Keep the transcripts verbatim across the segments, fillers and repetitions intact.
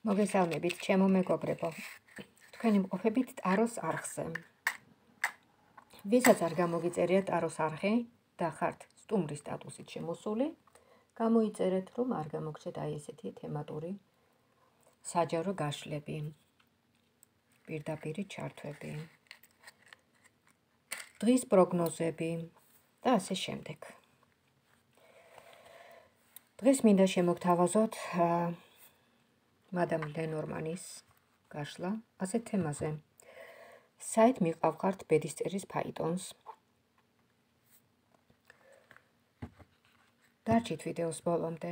მოგესალმებით, ჩემო მეგობრებო. თქვენი მყოფებით ტაროს არხზე. ვისაც არ გამოგიწერია ტაროს არხი და ხართ სტუმრის სტატუსით შემოსული, გამოიწერეთ, რომ არ გამოგჩეთ აი ესეთი თემატური საჯარო გაშლები, პირდაპირი ჩართვები, დღის პროგნოზები და ასე შემდეგ. დღეს მინდა შემოგთავაზოთ მადამ ლენორმანის გაშლა ასეთ თემაზე. საით მიყავხართ ბედისწერის ფაიტონს. დარჩით ვიდეოს ბოლომდე.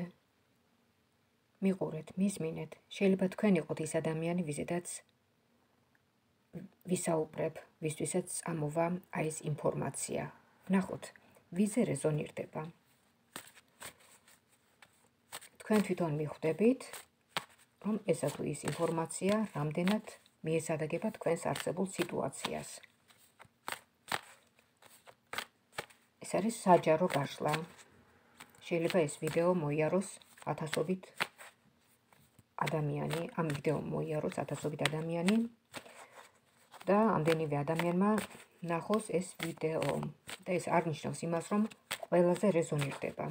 მიყურეთ, მისმინეთ. შეიძლება თქვენ იყოთ ის ადამიანი, ვიზედაც ვისაუბრებ, ვისთვისაც ამოვა აი ეს ინფორმაცია. ვნახოთ, ვიზე რეზონირდება. თქვენ თვითონ მიხვდებით, რომ ესა თუ ის ინფორმაცია რამდენად მიესადაგება თქვენს არსებულ სიტუაციას. ეს არის საჯარო გაშლა. შეიძლება ეს ვიდეო მოიაროს ათასობით ადამიანი, ამ ვიდეო მოიაროს ათასობით ადამიანი და ამდენივე ადამიანმა ნახოს ეს ვიდეო. და ეს არ ნიშნავს იმას, რომ ყველაზე რეზონირდება.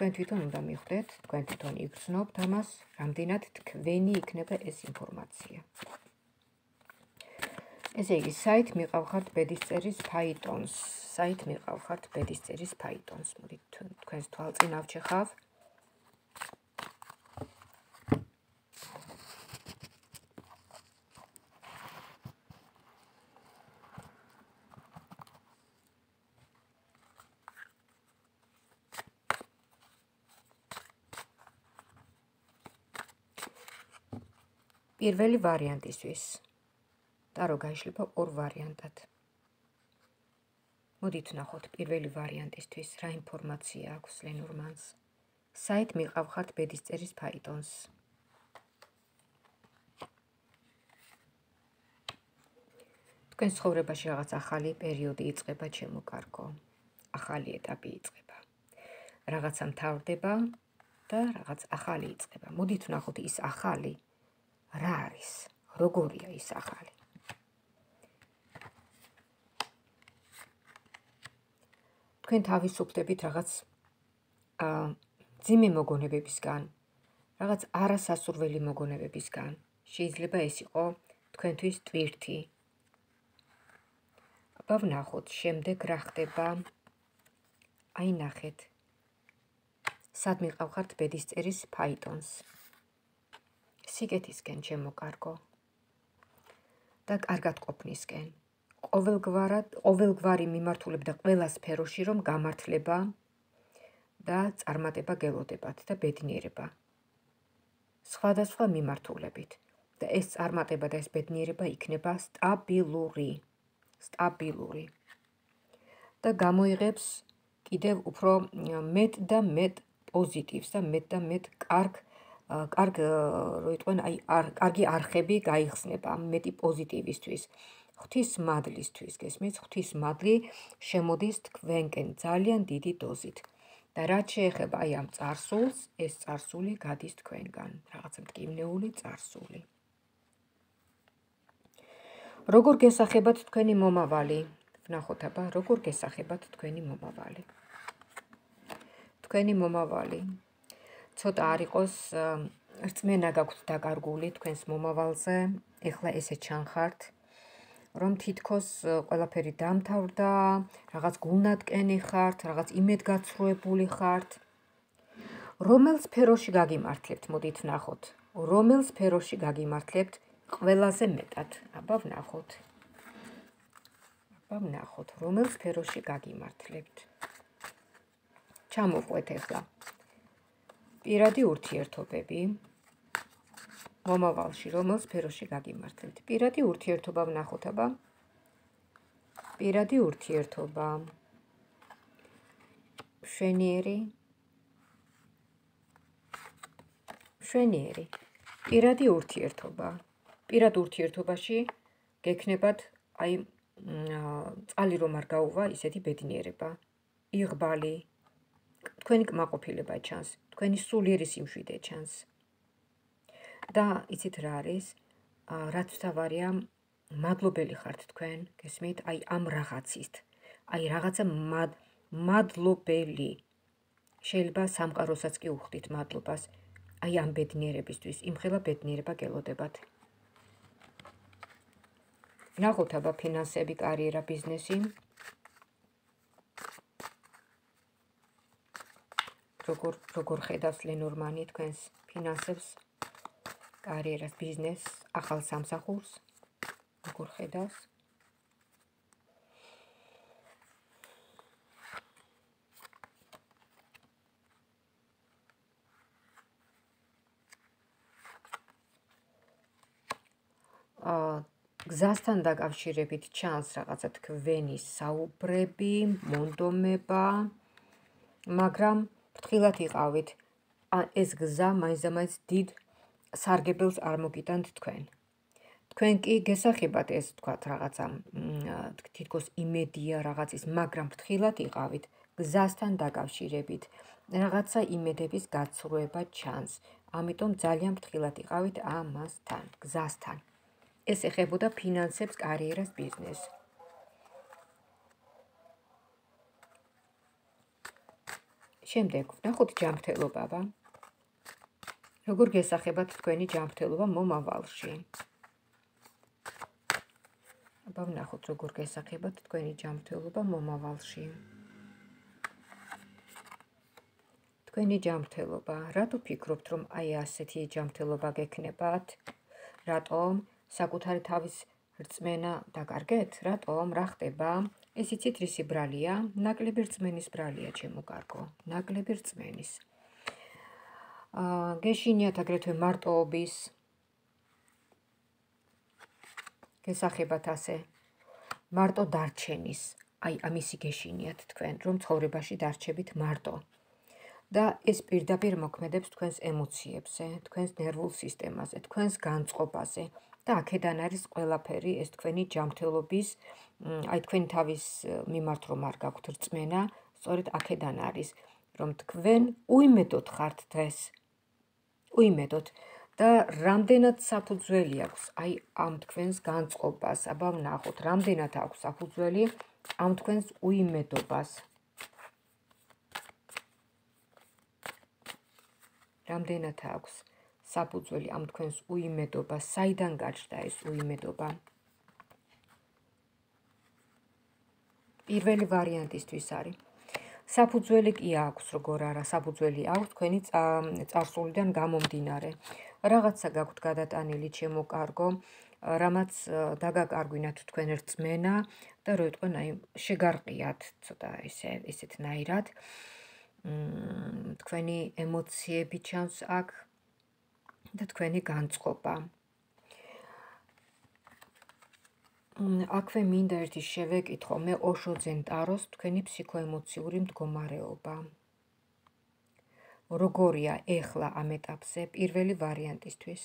თქვენ თვითონ უნდა მიხვდეთ, თქვენ თვითონ იგრძნობთ ამას, რამდენად თქვენი იქნება ეს ინფორმაცია. ესე იგი, საით მიყავხართ ბედისწერის ფაიტონს. საით მიყავხართ ბედისწერის ფაიტონს. მოდით თქვენს თვალწინ ავჩეხავ. პირველი ვარიანტისთვის. ტარო გაიშლება ორ ვარიანტად. მოდით ვნახოთ პირველი ვარიანტისთვის რა ინფორმაცია აქვს ლენორმანს. საით მიყავხართ ბედისწერის ფაიტონს. თქვენ ცხოვრებაში რაღაც ახალი პერიოდი იწყება, ჩემო კარგო. ახალი ეტაპი იწყება. რაღაცა მთავრდება და რაღაც ახალი იწყება. მოდით ვნახოთ ის ახალი რა არის? როგორია ის ახალი? თქვენ თავისუფლდებით რაღაც ძიმე მოგონებებისგან, რაღაც არასასურველი მოგონებებისგან. შეიძლება ეს იყო თქვენთვის ტვირთი. აბა ვნახოთ, შემდეგ რა ხდება? აი ნახეთ. სად მიყავხართ ბედისწერის ფაიტონს? სიკეთისკენ, ჩემო კარგო. და კარგად ყოფნისკენ. ყოველგვარად, ყოველგვარი მიმართულებით და ყველა სფეროში რომ გამართლება და წარმატება გელოდებათ და ბედნიერება. სხვადასხვა მიმართულებით. და ეს წარმატება და ეს ბედნიერება იქნება სტაბილური. სტაბილური. და გამოიღებს კიდევ უფრო მეტ და მეტ პოზიტივს და მეტ და მეტ კარგ კარგ რო იტყვენ, აი კარგი არხები გაიხსნება მეტი პოზიტივისთვის. ღვთის მადლისთვის, გესმის? ღვთის მადლი შემოდის თქვენკენ ძალიან დიდი დოზით. და რაც შეეხება აი ამ წარსულს, ეს წარსული გადის თქვენგან, რაღაცა მტკივნეული წარსული. როგორ გესახებათ თქვენი მომავალი? ვნახოთ აბა, როგორ გესახებათ თქვენი მომავალი? თქვენი მომავალი ცოტა არ იყოს რწმენა გაქვთ დაკარგული თქვენს მომავალზე, ეხლა ესე ჩანხართ, რომ თითქოს ყველაფერი დამთავრდა, რაღაც გულნატკენი ხართ, რაღაც იმედგაცრუებული ხართ. რომელ სფეროში გაგიმართლებთ, მოდით ვნახოთ. რომელ სფეროში გაგიმართლებთ ყველაზე მეტად? აბა ვნახოთ. აბა ვნახოთ, რომელ სფეროში გაგიმართლებთ. ჩამოვყვეთ ეხლა. პირადი ურთიერთობები. მომავალში რომელ სფეროში გაგიმართლებთ? პირადი ურთიერთობა ვნახოთ აბა. პირადი ურთიერთობა. მშვენიერი. მშვენიერი. პირადი ურთიერთობა. პირად ურთიერთობაში გექნებათ აი წყალი რომ არ გაუვა, ისეთი ბედნიერება. იღბალი. თქვენი კმაყოფილება ჩანს, თქვენი სულიერი სიმშვიდე ჩანს. და იცით რა არის? რაც თავარია, მადლობელი ხართ თქვენ, გესმით? აი ამ რაღაცით. აი რაღაცა მადლობელი. შეიძლება სამყაროსაც კი უხდით მადლობას. აი ამ ბედნიერებისთვის, იმხელა ბედნიერება გელოდებათ. ნახოთ აბა ფინანსები, კარიერა, ბიზნესი. როგორ როგორ ხედავს ლენორმანი თქვენს ფინანსებს, კარიერას, ბიზნესს, ახალ სამსახურს, როგორ ხედავს? გზასთან დაკავშირებით ჩანს რაღაცა თქვენი საუბრები, მონდომება, მაგრამ ფრთხილად იყავით. ეს გზა მაინც-მაინც დიდ სარგებელს არ მოგიტანთ თქვენ. თქვენ კი გესახებათ ეს თქვათ რაღაცა თითქოს იმედია რაღაცის, მაგრამ ფრთხილად იყავით გზასთან დაკავშირებით. რაღაცა იმედების გაცრუება ჩანს. ამიტომ ძალიან ფრთხილად იყავით ამასთან, გზასთან. ეს ეხებოდა ფინანსებს, კარიერას, ბიზნესს. შემდეგ ვნახოთ ჯანმრთელობა. როგორ გესახებათ თქვენი ჯანმრთელობა მომავალში? აბა ვნახოთ როგორ გესახებათ თქვენი ჯანმრთელობა მომავალში. თქვენი ჯანმრთელობა, რატო ფიქრობთ რომ აი ასეთი ჯანმრთელობა გექნებათ? რატომ? საკუთარი თავის რწმენა დაკარგეთ? რატომ? რა ხდება? ეს იცით რისი ბრალია? ნაკლები რწმენის ბრალია, ჩემო კარგო, ნაკლები რწმენის. აა გეშინიათ აგრეთვე მარტოობის გესახებათ ასე. მარტო დარჩენის, აი ამისი გეშინიათ თქვენ, რომ ცხოვრებაში დარჩებით მარტო. და ეს პირდაპირ მოქმედებს თქვენს ემოციებზე, თქვენს ნერვულ სისტემაზე, თქვენს განწყობაზე. და აქედან არის ყველაფერი ეს თქვენი ჯანმრთელობის, აი თქვენი თავის მიმართ რომ არ გაქვთ რწმენა, სწორედ აქედან არის, რომ თქვენ უიმედოდ ხართ დღეს. უიმედოდ და რამდენად საფუძველი აქვს აი ამ თქვენს განწყობას, აბა ვნახოთ, რამდენად აქვს საფუძველი ამ თქვენს უიმედობას. რამდენად აქვს საფუძველი ამ თქვენს უიმედობას, საიდან გაჩნდა ეს უიმედობა? პირველი ვარიანტისთვის არის. საფუძველი კი აქვს, როგორ არა, საფუძველი აქვს თქვენი წარსულიდან გამომდინარე. რაღაცა გაქვთ გადატანილი, ჩემო კარგო, რამაც დაგაკარგვინათ თქვენ რწმენა და რო იტყვენ, აი შეგარყიათ ცოტა ესე ესეთნაირად. თქვენი ემოციები ჩანს აქ და თქვენი განწყობა. აქვე მინდა ერთი შევეკითხო, მე ოშო ძენტაროს თქვენი ფსიქოემოციური მდგომარეობა. როგორია ეხლა ამ ეტაპზე პირველი ვარიანტისთვის?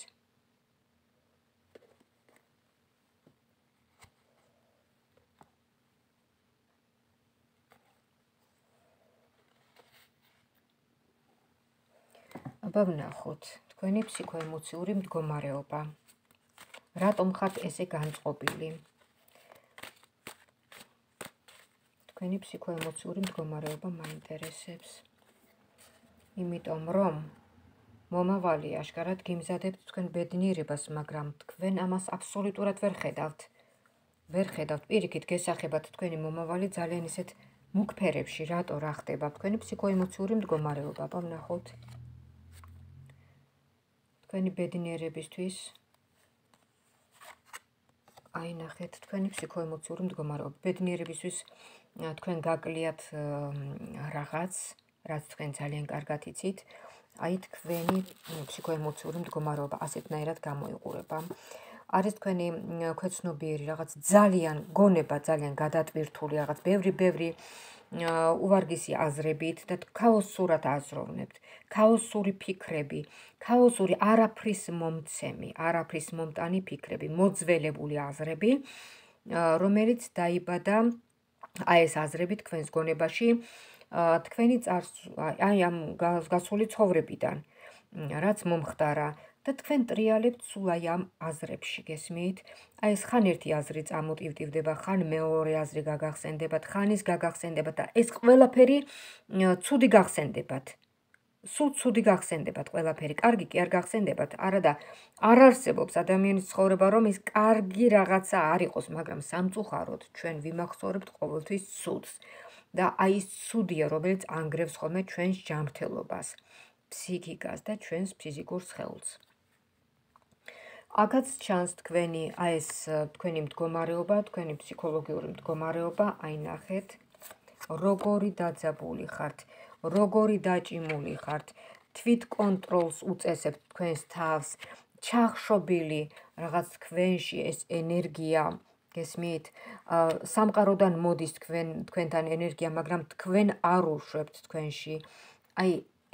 აბა ვნახოთ, თქვენი ფსიქოემოციური მდგომარეობა. რატომ ხართ ესე განწყობილი? თქვენი ფსიქოემოციური მდგომარეობა მაინტერესებს. იმიტომ რომ მომავალი აშკარად გიმზადებთ თქვენ ბედნიერებას, მაგრამ თქვენ ამას აბსოლუტურად ვერ ხედავთ. ვერ ხედავთ, პირიქით გესახებათ თქვენი მომავალი ძალიან ისეთ მუქ ფერებში, რატო რა ხდება? თქვენი ფსიქოემოციური მდგომარეობა, აბა ვნახოთ. თქვენი ბედნიერებისთვის აი ნახეთ, თქვენი ფსიქოემოციური მდგომარეობა. ბედნიერებისთვის თქვენ გაკლიათ რაღაც, რაც თქვენ ძალიან კარგად იცით, აი თქვენი ფსიქოემოციური მდგომარეობა ასეთნაირად გამოიყურება. არის თქვენი ქვეცნობიერი რაღაც ძალიან გონება, ძალიან გადატვირთული რაღაც ბევრი-ბევრი უვარგისი აზრებით და ქაოსურად აზროვნებთ, ქაოსური ფიქრები, ქაოსური არაფრის მომცემი, არაფრის მომტანი ფიქრები, მოძველებული აზრები, რომელიც დაიბადა აი ეს აზრები თქვენს გონებაში თქვენი აი ამ გასული ცხოვრებიდან, რაც მომხდარა და თქვენ ტრიალებთ სულ აი ამ აზრებში, გესმით? აი ეს ხან ერთი აზრი წამოტივტივდება, ხან მეორე აზრი გაგახსენდებათ, ხან ის გაგახსენდებათ და ეს ყველაფერი ცუდი გახსენდებათ. სულ ცუდი გახსენდებათ ყველაფერი. კარგი კი არ გახსენდებათ, არადა არ არსებობს ადამიანის ცხოვრება, რომ ის კარგი რაღაცა არ იყოს, მაგრამ სამწუხაროდ ჩვენ ვიმახსოვრებთ ყოველთვის ცუდს. და აი ეს ცუდია, რომელიც ანგრევს ხოლმე ჩვენს ჯანმრთელობას, ფსიქიკას და ჩვენს ფიზიკურ სხეულს. აქაც ჩანს თქვენი აი ეს თქვენი მდგომარეობა, თქვენი ფსიქოლოგიური მდგომარეობა, აი ნახეთ, როგორი დაძაბული ხართ, როგორი დაჭიმული ხართ, თვით კონტროლს უწესებთ თქვენს თავს, ჩახშობილი რაღაც თქვენში ეს ენერგია, გესმით? სამყაროდან მოდის თქვენ თქვენთან ენერგია, მაგრამ თქვენ არ უშვებთ თქვენში. აი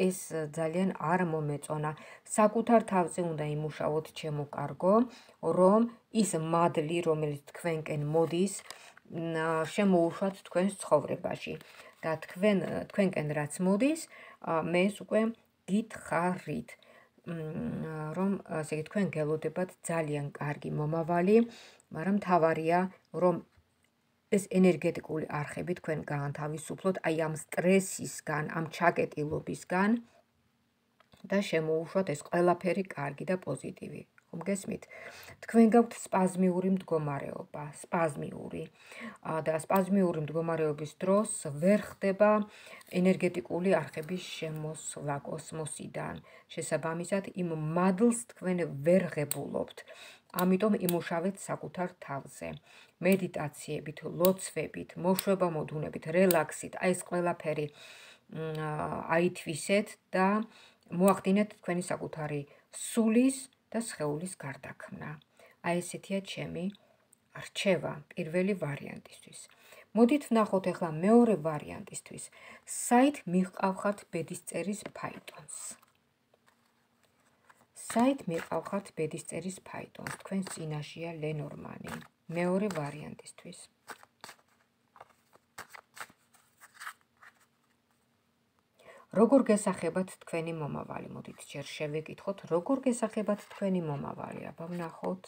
ეს ძალიან არ მომეწონა. საკუთარ თავზე უნდა იმუშაოთ, ჩემო კარგო, რომ ის მადლი, რომელიც თქვენკენ მოდის, შემოუშვათ თქვენს ცხოვრებაში. და თქვენ თქვენკენ რაც მოდის, მე ეს უკვე გითხარით, რომ ასე იგი თქვენ გელოდებათ ძალიან კარგი მომავალი, მაგრამ მთავარია, რომ ეს ენერგეტიკული არხები თქვენ გაანთავისუფლოთ აი ამ სტრესისგან, ამ ჩაკეტილობისგან და შემოუშვათ ეს ყველაფერი კარგი და პოზიტივი. ხომ გესმით? თქვენ გაქვთ სპაზმიური მდგომარეობა, სპაზმიური და სპაზმიური მდგომარეობის დროს ვერ ხდება ენერგეტიკული არხების შემოსვლა კოსმოსიდან. შესაბამისად, იმ მადლს თქვენ ვერ ღებულობთ. ამიტომ იმუშავეთ საკუთარ თავზე. მედიტაციებით, ლოცვებით, მოშვება მოდუნებით, რელაქსით, აი ეს ყველაფერი აითვისეთ და მოახდინეთ თქვენი საკუთარი სულის და სხეულის გარდაქმნა. აი ესეთია ჩემი რჩევა პირველი ვარიანტისთვის. მოდით ვნახოთ ახლა მეორე ვარიანტისთვის. საით მიყავხართ ბედისწერის ფაიტონს. საით მიყავხართ ბედისწერის ფაიტონს. თქვენ წინაშეა ლენორმანი. მეორე ვარიანტისთვის. როგორ გესახებათ თქვენი მომავალი? მოდით ჯერ შევეკითხოთ, როგორ გესახებათ თქვენი მომავალი? აბა ვნახოთ.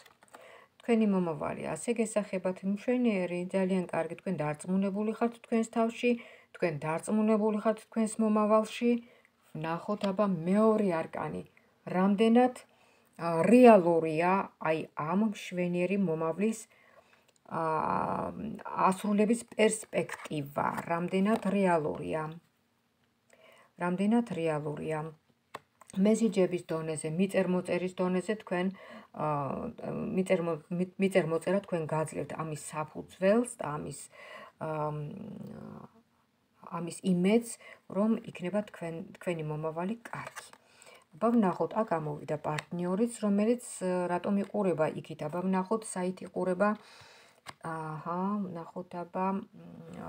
თქვენი მომავალი ასე გესახებათ, მშვენიერი, ძალიან კარგი, თქვენ დარწმუნებული ხართ თქვენს თავში, თქვენ დარწმუნებული ხართ თქვენს მომავალში. ვნახოთ აბა მეორე არკანი. რამდენად რეალურია აი ამ მშვენიერი მომავლის ასრულების პერსპექტივა, რამდენად რეალურია. რამდენად რეალურია. მესიჯების დონეზე, მიწერმოწერის დონეზე თქვენ მიწერმოწერა თქვენ გაძლევთ ამის საფუძველს და ამის ამის იმედს, რომ იქნება თქვენ თქვენი მომავალი კარგი. აბა ვნახოთ, აქ გამოვიდა პარტნიორიც, რომელიც რატომ იყურება იქით? აბა ვნახოთ, საით იყურება. აჰა, ვნახოთ აბა,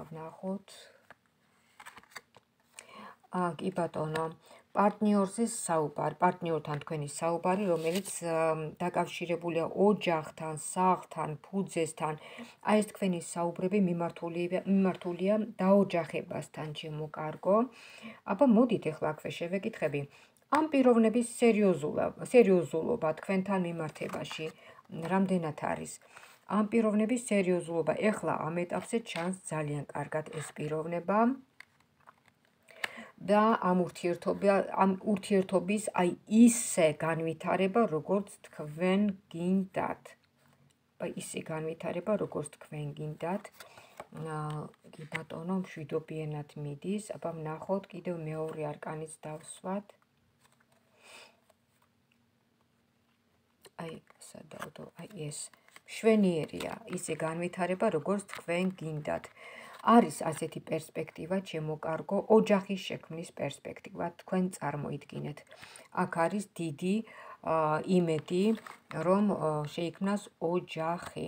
ვნახოთ. კი ბატონო, პარტნიორზე საუბარი, პარტნიორთან თქვენი საუბარი, რომელიც დაკავშირებულია ოჯახთან, სახლთან, ფუძესთან. აი ეს თქვენი საუბრები მიმართულია დაოჯახებასთან, ჩემო კარგო. აბა მოდით ახლა აქვე შევეკითხები. ამ პიროვნების სერიოზულობა თქვენთან მიმართებაში რამდენად არის? ამ პიროვნების სერიოზულობა ახლა ამ ეტაპზე ჩანს ძალიან კარგად ეს პიროვნება. და ამ ურთიერთობის აი ისე განვითარება, როგორც თქვენ გინდათ. ისე განვითარება, როგორც თქვენ გინდათ. კი ბატონო, მშვიდობიანად მიდის. აბა ვნახოთ, კიდევ მეორე არკანიც დავსვათ. აი, სადავდო, აი ეს მშვენიერია, ისე განვითარება, როგორც თქვენ გინდათ. არის ასეთი პერსპექტივა, ჩემო კარგო, ოჯახის შექმნის პერსპექტივა, თქვენ წარმოიდგინეთ. აქ არის დიდი იმედი, რომ შეიქმნას ოჯახი.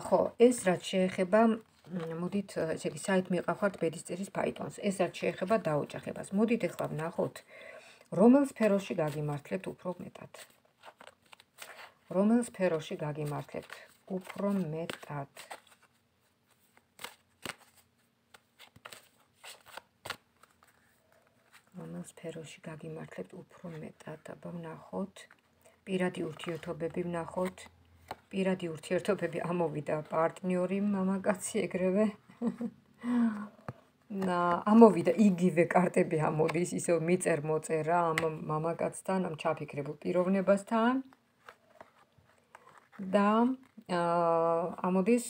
ხო, ეს რაც შეეხება, მოდით, ესე იგი, საით მიყავხართ ბედისწერის ფაიტონს. ეს რაც შეეხება დაოჯახებას. მოდით ახლა ვნახოთ, რომელ სფეროში გაგიმართლებთ უფრო მეტად. რომელ სფეროში გაგიმართლებთ უფრო მეტად. რომელ სფეროში გაგიმართლებთ უფრო მეტად, აბა ვნახოთ. პირადი ურთიერთობები ვნახოთ. პირადი ურთიერთობები ამოვიდა პარტნიორი მამაკაცი ეგრევე. ამოვიდა იგივე კარტები ამოდის, ისევ მიწერ მოწერა ამ მამაკაცთან, ამ ჩაფიქრებულ პიროვნებასთან. და ამოდის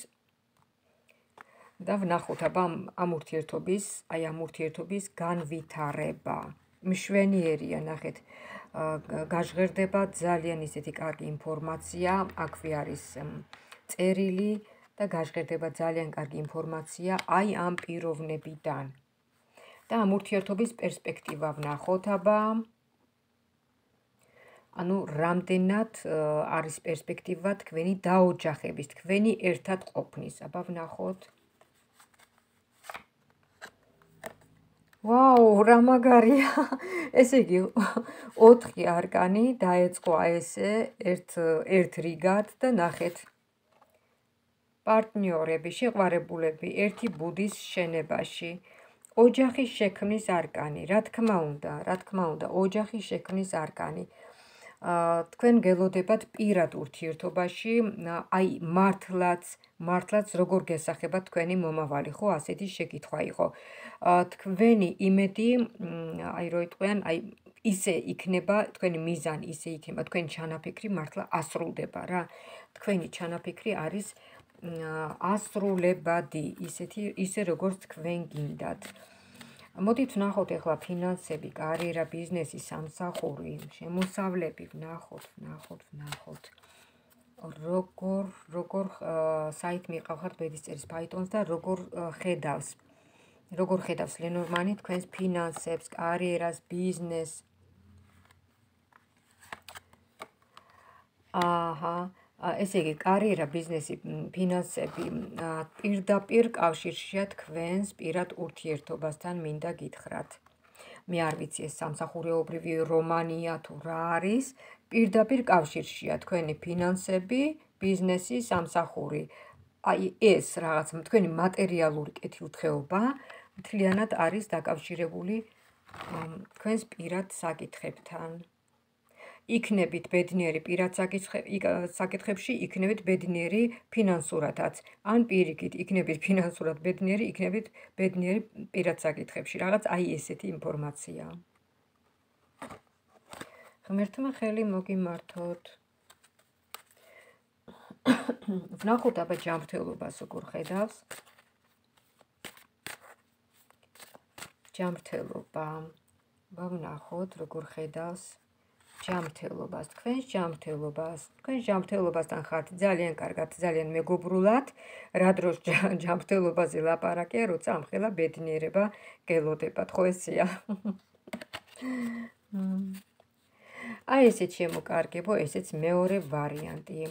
და ვნახოთ აბა ამ ურთიერთობის, აი ამ ურთიერთობის განვითარება. მშვენიერია, ნახეთ, გაჟღერდება ძალიან ისეთი კარგი ინფორმაცია, აქვე არის წერილი და გაჟღერდება ძალიან კარგი ინფორმაცია აი ამ პიროვნებიდან. და ამ ურთიერთობის პერსპექტივა ვნახოთ აბა. ანუ რამდენად არის პერსპექტივა თქვენი დაოჯახების, თქვენი ერთად ყოფნის. აბა ვნახოთ. ვაუ, რა მაგარია. ესე იგი, ოთხი არკანი დაეწყო ესე ერთ ერთ რიგად და ნახეთ. პარტნიორები, შეყვარებულები, ერთი ბუდის შენებაში. ოჯახის შექმნის არკანი, რა თქმა უნდა, რა თქმა უნდა, ოჯახის შექმნის არკანი. თქვენ გელოდებათ პირად ურთიერთობაში, აი მართლაც, მართლაც როგორ გესახებათ თქვენი მომავალი, ხო, ასეთი შეკითხვა იყო. თქვენი იმედი, აი რო იტყვიან, აი ისე იქნება, თქვენი მიზანი ისე იქნება, თქვენი ჩანაფიქრი მართლა ასრულდება რა. თქვენი ჩანაფიქრი არის ასრულებადი, ისეთი ისე როგორც თქვენ გინდათ. მოდით ვნახოთ ახლა ფინანსები, კარიერა, ბიზნესი, სამსახური, შემოსავლები, ვნახოთ, ვნახოთ, ვნახოთ. როგორ, როგორ საით მიყავხართ ბედისწერის Python-ს და როგორ ხედავს, როგორ ხედავს ლენორმანი თქვენს ფინანსებს, კარიერას, ბიზნესს. აჰა, ესე იგი, კარიერა, ბიზნესი, ფინანსები პირდაპირ კავშირშია თქვენს პირად ურთიერთობასთან მინდა გითხრათ. მე არ ვიცი ეს სამსახურეობრივი რომანია თუ რა არის, პირდაპირ კავშირშია თქვენი ფინანსები, ბიზნესი, სამსახური. აი ეს რაღაც თქვენი მატერიალური კეთილდღეობა მთლიანად არის დაკავშირებული თქვენს პირად საკითხებთან. იქნებით ბედნიერი პირად საკითხებში, იქნებით ბედნიერი ფინანსურადაც. ან პირიქით, იქნებით ფინანსურად ბედნიერი, იქნებით ბედნიერი პირად საკითხებში. რაღაც აი ესეთი ინფორმაცია. ღმერთმა ხელი მოგიმართოთ. ვნახოთ აბა ჯანმრთელობას როგორ ხედავს. ჯანმრთელობა. ვნახოთ როგორ ხედავს. ჯანმრთელობას, თქვენს ჯანმრთელობას, თქვენს ჯანმრთელობასთან ხართ ძალიან კარგად, ძალიან მეგობრულად, რა დროს ჯანმრთელობაზე ლაპარაკია, როცა ამხელა ბედნიერება გელოდებათ, ხო ესეა? აი ესეც შემოკარგებო, ესეც მეორე ვარიანტი.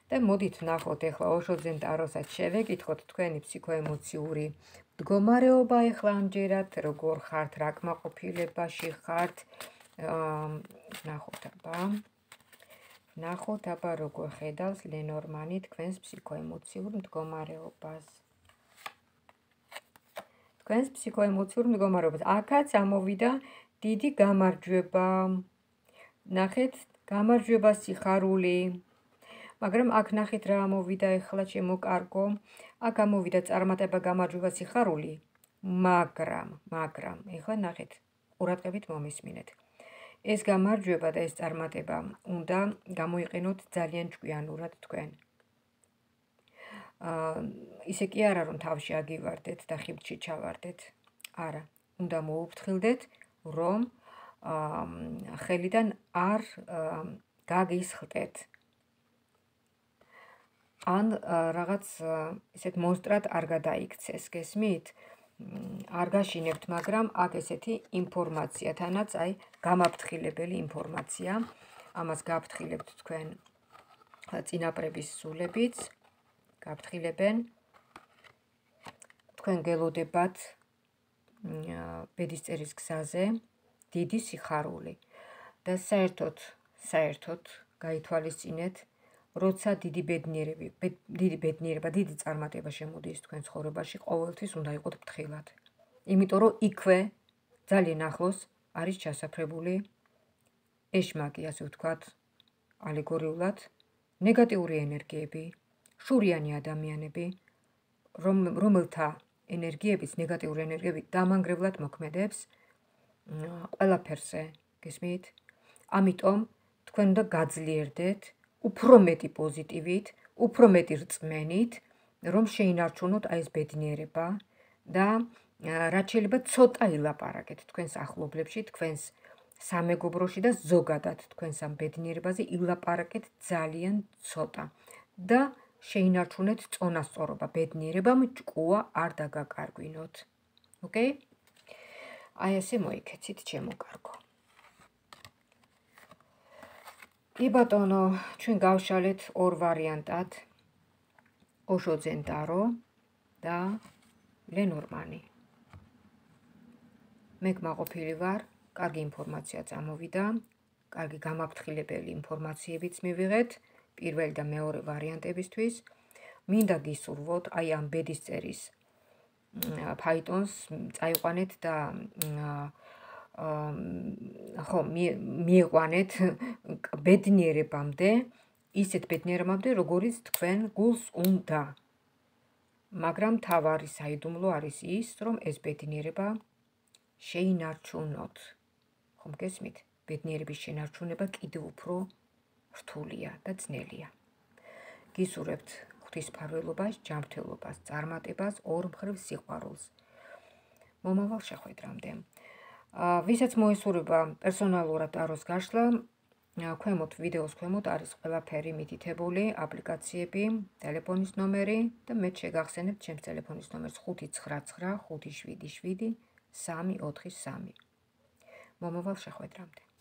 და მოდით ვნახოთ ახლა ოშოძენ ტაროსაც შევეკითხოთ თქვენი ფსიქოემოციური მდგომარეობა ახლა ამჯერად, როგორ ხართ, რა კმაყოფილებაში ხართ. ვნახოთ აბა. ვნახოთ აბა როგორ ხედავს ლენორმანი თქვენს ფსიქოემოციურ მდგომარეობას. თქვენს ფსიქოემოციურ მდგომარეობას. აქაც ამოვიდა დიდი გამარჯვება. ნახეთ, გამარჯვება, სიხარული. მაგრამ აქ ნახეთ რა ამოვიდა ახლა ჩემო კარგო. აქ ამოვიდა წარმატება, გამარჯვება, სიხარული. მაგრამ, მაგრამ, ახლა ნახეთ, ყურადღებით მომისმინეთ. ეს გამარჯვება და ეს წარმატება უნდა გამოიყენოთ ძალიან ჭკვიანურად თქვენ. ისე კი არა რომ თავში აგივარდეთ და ხიბლში ჩავარდეთ. არა, უნდა მოუფრთხილდეთ, რომ ხელიდან არ გაგისხლტეთ. ან რაღაც ისეთ მონსტრად არ გადაიქცეს, გესმით? არ გაშინებთ, მაგრამ აქ ესეთი ინფორმაცია, თანაც აი გამაფრთხილებელი ინფორმაცია. ამას გაფრთხილებთ თქვენ წინაპრების სულებიც, გაფრთხილებენ. თქვენ გელოდებათ ბედისწერის გზაზე დიდი სიხარული. და საერთოდ, საერთოდ გაითვალისწინეთ, როცა დიდი ბედნიერები, დიდი ბედნიერება, დიდი წარმატება შემოდის თქვენ ცხოვრებაში, ყოველთვის უნდა იყოთ ფრთხილად. იმიტომ რომ იქვე ძალიან ახლოს არის ჩასაფრებული ეშმაკი, ასე ვთქვათ, ალეგორიულად, ნეგატიური ენერგიები, შურიანი ადამიანები, რომელთა ენერგიებიც, ნეგატიური ენერგიები დამანგრევლად მოქმედებს ყველაფერზე, გესმით? ამიტომ თქვენ უნდა გაძლიერდეთ უფრო მეტი პოზიტივით, უფრო მეტი რწმენით, რომ შეინარჩუნოთ აი ეს ბედნიერება და რაც შეიძლება ცოტა ილაპარაკეთ თქვენს ახლობლებში, თქვენს სამეგობროში და ზოგადად თქვენს ამ ბედნიერებაზე ილაპარაკეთ ძალიან ცოტა და შეინარჩუნეთ წონასწორობა, ბედნიერებამ ჭკუა არ დაგაკარგვინოთ. ოკეი? აი ესე მოიქეცით, ჩემო კარგო. კი ბატონო, ჩვენ გავშალეთ ორ ვარიანტად, ოშო ზენტარო და ლენორმანი. მე გმაყოფილი ვარ, კარგი ინფორმაცია წამოვიდა, კარგი გამაფრთხილებელი ინფორმაციებიც მივიღეთ, პირველი და მეორე ვარიანტებისთვის. მინდა გისურვოთ, აი ამ ბედისწერის ფაიტონს წაიყვანეთ და ხო, მieყვანეთ ბედნიერებამდე, ისეთ ბედნიერებამდე, როგორიც თქვენ გულს უნდა. მაგრამ თავარი საიდუმლო არის ის, რომ ეს ბედნიერება შეინარჩუნოთ. ხომ გესმით? ბედნიერების შენარჩუნება კიდევ უფრო რთულია და ძნელია. გისურვებთ ღვთისმფარველობას, ჯანმრთელობას, წარმატებას, ორმხრივ სიყვარულს. მომავალ შეხვედრამდე. ვისაც მოესურვება პერსონალურად ტაროს გაშლა, ქვემოთ ვიდეოს ქვემოთ არის ყველაფერი მითითებული, აპლიკაციები, ტელეფონის ნომერი და მე შეგახსენებთ ჩემს ტელეფონის ნომერს ხუთი ცხრა ცხრა ხუთი შვიდი შვიდი სამი ოთხი სამი. მომავალ შეხვედრამდე.